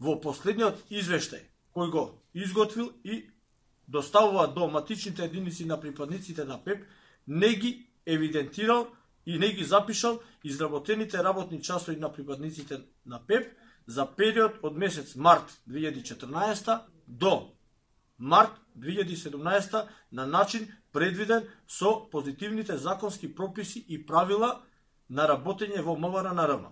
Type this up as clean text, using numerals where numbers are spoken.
во последниот извештај кој го изготвил и доставува до матичните единици на припадниците на ПЕП, не ги евидентирал и не ги запишал изработените работни часови на припадниците на ПЕП за период од месец март 2014 до март 2017 на начин предвиден со позитивните законски прописи и правила на работење во МВР на РМ.